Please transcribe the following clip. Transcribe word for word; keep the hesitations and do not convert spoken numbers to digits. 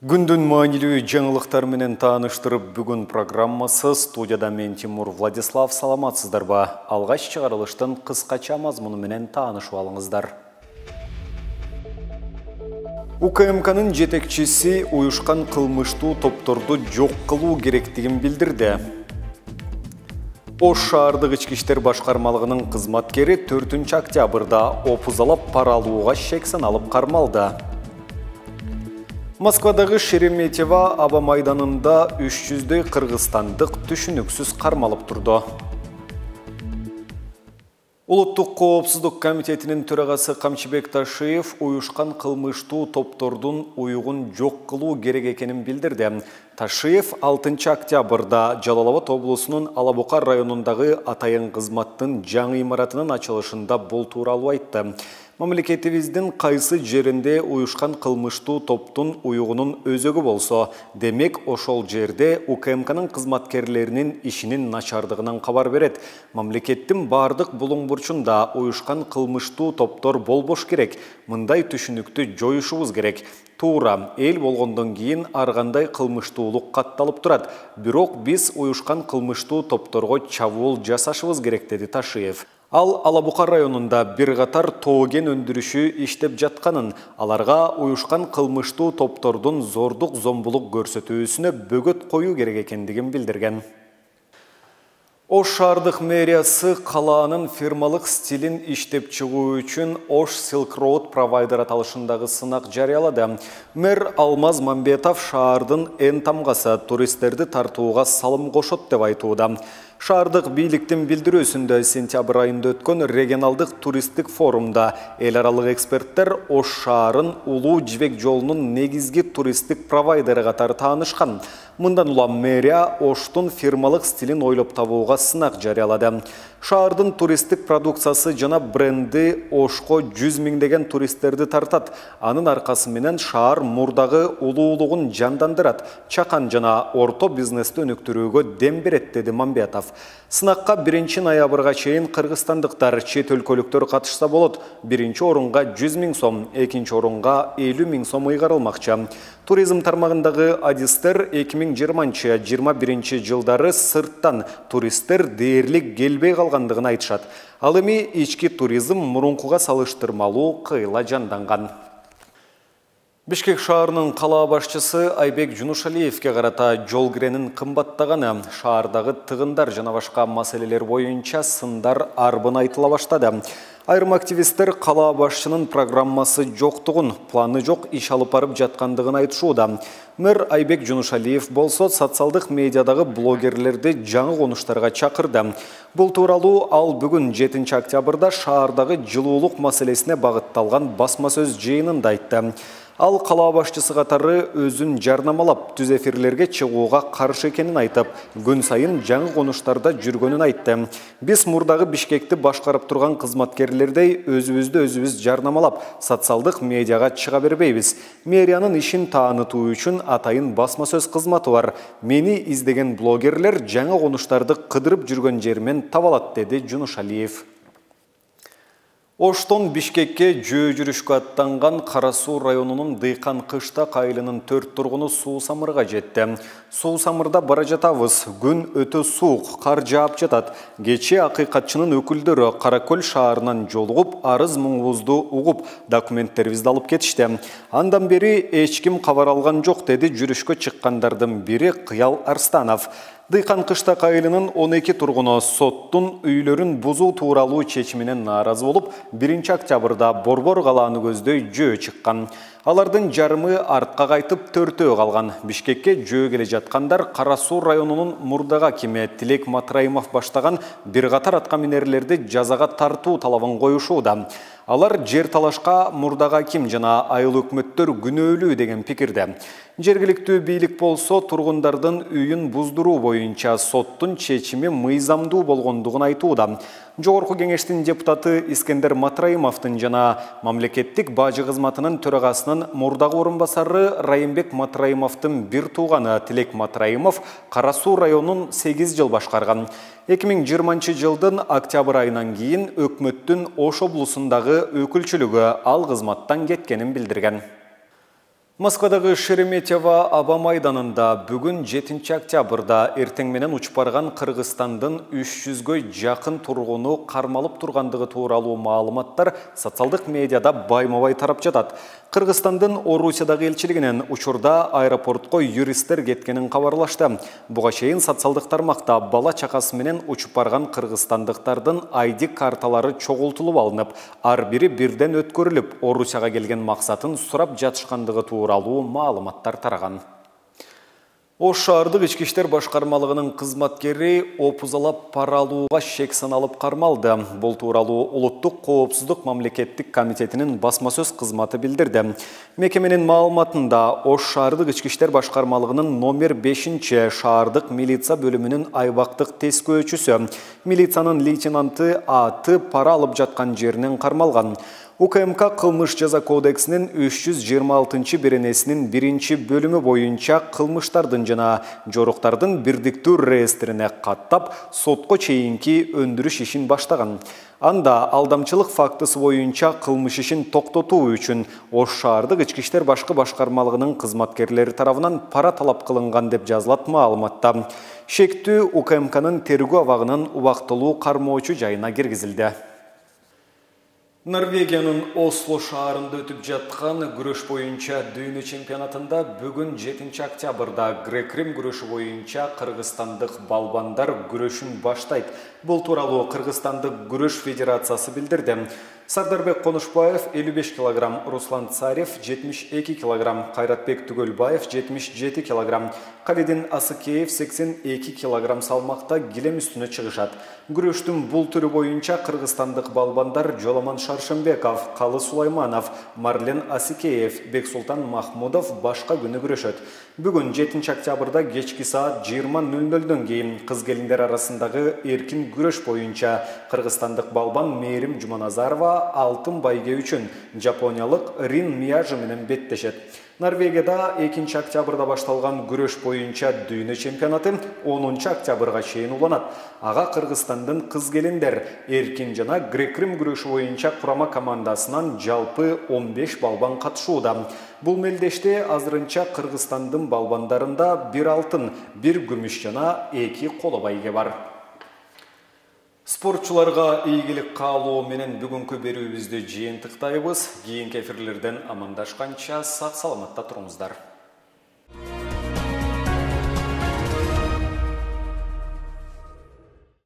Күндүн маанилүү жаңылыктар менен тааныштырып бүгүн программасы студияда мен Тимур Владислав. Саламатсыздарбы? Алгач чыгарылыштын кыскача мазмуну менен таанышып алыңыздар. У К М К'нын жетекчиси уюшкан кылмыштуу топторду жок кылуу керектигин билдирди. Ош шаардык ички иштер башкармалыгынын кызматкери төртүнчү октябрда опузалап пара алууга шек саналып кармалды. Москвадагы Шереметьево аба майданында үч жүздөй кыргызстандык түшүнүксүз кармалып турду. Улуттук коопсуздук комитетинин төрагасы Камчыбек Ташиев уюшкан кылмыштуу топтордун уюгун жок кылуу керек экенин билдирди. Ташиев алтынчы октябрда Жалал Абад облусунун Алабука районундагы атайын кызматтын жаңы имаратынын ачылышында бул тууралуу айтты. Мамлекетибиздин кайсы жеринде уюшкан кылмыштуу топтун уюгунун өзөгү болсо, демек ошол жерде У К М К'нын кызматкерлеринин ишинин начардыгынан кабар берет. Мамлекеттин бардык булуң бурчунда уюшкан кылмыштуу топтор болбош керек. Мындай түшүнүктү жоюшубуз керек. Туура, эл болгондон кийин ар кандай кылмыштуулук катталып турат. Бирок биз уюшкан кылмыштуу топторго чабуул жасашыбыз керек, деди Ташиев. Ал Алабука районунда бир катар тоо кен өндүрүшү иштеп жатканын, аларга уюшкан кылмыштуу топтордун зордук зомбулук көрсөтүүсүнө бөгөт коюу керек экендигин билдирген. Ош шаардык мэриясы калаанын фирмалык стилин иштеп чыгуу үчүн Ош Silk Road провайдер аталышындагы сынак жарыялады. Мэр Алмаз Мамбетов шаардын эн тамгасы туристтерди тартууга салым кошот деп айтууда. Шаардык бийликтин билдирүүсүндө сентябрь айында өткөн регионалдык туристтик форумда эл аралык эксперттер Ош шаарын улуу жибек жолунун негизги туристтик провайдери катары таанышкан. Мындан улам мэрия Оштун фирмалык стилин ойлоп табууга сынак жарыялады. Шаардын туристтик продукциясы жана бренди Ошко жүз миңдеген туристтерди тартат. Анын аркасы менен шаар мурдагы улуулугун жандандырат, чакан жана орто бизнести өнүктүрүүгө дем берет, деди Мамбетов. Сынакка биринчи ноябрга чейин кыргызстандыктар, чет өлкөлүктөр катышса болот. Биринчи орунга жүз миң сом, экинчи орунга элүү миң сом ыйгарылмакчы. Туризм тармагындагы адистер эки миң жыйырманчы — жыйырма биринчи жылдары сырттан туристтер дээрлик келбей калгандыгын айтышат. Ал эми ички туризм мурункуга салыштырмалуу кыйла жанданган. Бишкек шаарынын кала башчысы Айбек Жунушалиевке карата жол киренин кымбаттаганы, шаардагы тыгындар жана башка маселелер боюнча сындар арбын айтыла баштады. Айрым активисттер кала башчынын программасы жоктугун, планы жок иш алып барып жаткандыгын айтышууда. Мэр Айбек Жунушалиев болсо социалдык медиадагы блогерлерди жаңы конуштарга чакырды. Бул тууралуу ал бүгүн жетинчи октябрда шаардагы жылуулук маселесине багытталган басма сөз жыйынында айтты. Ал кала башчысы катары өзүн жарнамалап, түз эфирлерге чыгууга каршы экенин айтып, күн сайын жаңы конуштарда жүргөнүн айтты. Биз мурдагы Бишкекти башкарып турган кызматкерлердей өзүбүздү өзүбүз жарнамалап, социалдык медиага чыга бербейбиз. Мэриянын ишин таанытуу үчүн атайын басма сөз кызматы бар. Мени издеген блогерлер жаңы конуштарды кыдырып жүргөн жеримен таба алат, деди Жунушалиев. Оштон Бишкекке жөө жүрүшкө аттанган Кара Суу районунун Дыйкан Кыштак айылынын төрт тургуну Суу Самырга жетти. Суу Самырда бара жатабыз. Күн өтө суук, кар жаап жатат. Кечээ акыйкатчынын өкүлдөрү Каракөл шаарынан жолугуп, арыз муңубузду угуп, документтерибизди алып кетишти. Андан бери эч ким кабар алган жок, деди жүрүшкө чыккандардын бири Кыял Арстанов. Дыйкан Кыштак айылынын он эки тургуну соттун үйлөрүн бузуу тууралуу чечиминен нааразы болуп, биринчи октябрда Борбор калааны көздөй жөө чыккан. Алардын жарымы артка кайтып, төртөө калган. Бишкекке жөө келе жаткандар Кара Суу районунун мурдага акими Тилек Матраимов баштаган бир катар атка минерлерди жазага тартуу талабын коюшууда. Алар жер талашка мурдага аким жана айыл өкмөттөр күнөөлүү деген пикирде. Жергиликтүү бийлик болсо тургундардын үйүн буздуруу боюнча соттун чечими мыйзамдуу болгондугун айтууда. Жогорку кеңештин депутаты Искендер Матраимовдун жана мамлекеттик бажы кызматынын төрагасынын мурдагы орун басары Райымбек Матраимовдун бир тууганы Тилек Матраимов Кара Суу районун сегиз жыл башкарган. эки миң жыйырманчы жылдын октябрь айынан кийин өкмөттүн Ош облусундагы өкүлчүлүгү ал кызматтан кеткенин билдирген. Москвадагы Шереметьево аба майданында бүгүн жетинчи октябрда эртең менен учуп барган Кыргызстандын үч жүзгө жакын тургуну кармалып тургандыгы тууралуу маалыматтар социалдык медиада байма-бай тарап жатат. Кыргызстандын Орусиядагы элчилигинен учурда аэропортко юристтер кеткенин кабарлашты. Буга чейин социалдык тармакта бала чакасы менен учуп барган кыргызстандыктардын ай ди карталары чогултулуп алынып, ар бири бирден өткөрүлүп, Орусияга келген максатын сурап жатышкандыгы тууралуу маалыматтар тараган. Ош шаардык ички иштер башкармалыгынын кызматкери опузалап пара алууга шек саналып кармалды. Бул тууралуу Улуттук коопсуздук мамлекеттик комитетинин басма сөз кызматы билдирди. Мекеменин маалыматында Ош шаардык ички иштер башкармалыгынын номер бешинчи шаардык милиция бөлүмүнүн айбактык тескөөчүсү, милициянын лейтенанты Аты пара алып жаткан жеринен кармалган. У К М К кылмыш жаза кодексинин үч жүз жыйырма алтынчы беренесинин биринчи бөлүмү боюнча кылмыштардын жана жоруктардын бирдиктүү реестрине каттап, сотко чейинки өндүрүш ишин баштаган. Анда алдамчылык фактысы боюнча кылмыш ишин токтотуу үчүн Ош шаардык ички иштер башкы башкармалыгынын кызматкерлери тарабынан пара талап кылынган деп жазылат маалыматта. Шектүү У К М К'нын тергөө абагынын убактылуу кармоочу жайына киргизилди. Норвегиянын Осло шаарында өтүп жаткан күрөш боюнча дүйнө чемпионатында бүгүн жетинчи октябрда грек-рим күрөшү боюнча кыргызстандык балбандар күрөшүн баштайт. Бул тууралуу Кыргызстандык күрөш федерациясы билдирди. Сардарбек Конушбаев элүү беш килограмм, Руслан Царев жетимиш эки килограмм, Кайратбек Түгөлбаев жетимиш жети килограмм, Калидин Асыкеев сексен эки килограмм салмакта килем үстүнө чыгышат. Күрөштүн бул түрү боюнча кыргызстандык балбандар Жоламан Шаршембеков, Калы Сулайманов, Марлен Асикеев, Бексултан Махмудов башка күнү күрөшөт. Бүгүн жетинчи октябрда кечки саат жыйырма нөл нөлдөн кийин кыз-келиндер арасындагы эркин күрөш боюнча кыргызстандык балбан Мээрим Жуманазарова алтын байге үчүн жапониялык Рин Мияжи менен беттешет. Норвегияда экинчи октябрда башталган күрөш боюнча дүйнө чемпионаты онунчу октябрга чейин уланат. Ага Кыргызстандын кыз-келиндер эркин жана грек-рим күрөшү боюнча курама командасынан жалпы он беш балбан катышууда. Бул мелдеште азырынча Кыргызстандын балбандарында бир алтын, бир күмүш жана эки коло байге бар. Спортчуларга ийгилик каалоо менен бүгүнкү берүүбүздү жыйынтыктайбыз. Кийинки эфирлерден амандашканча сак саламатта туруңуздар.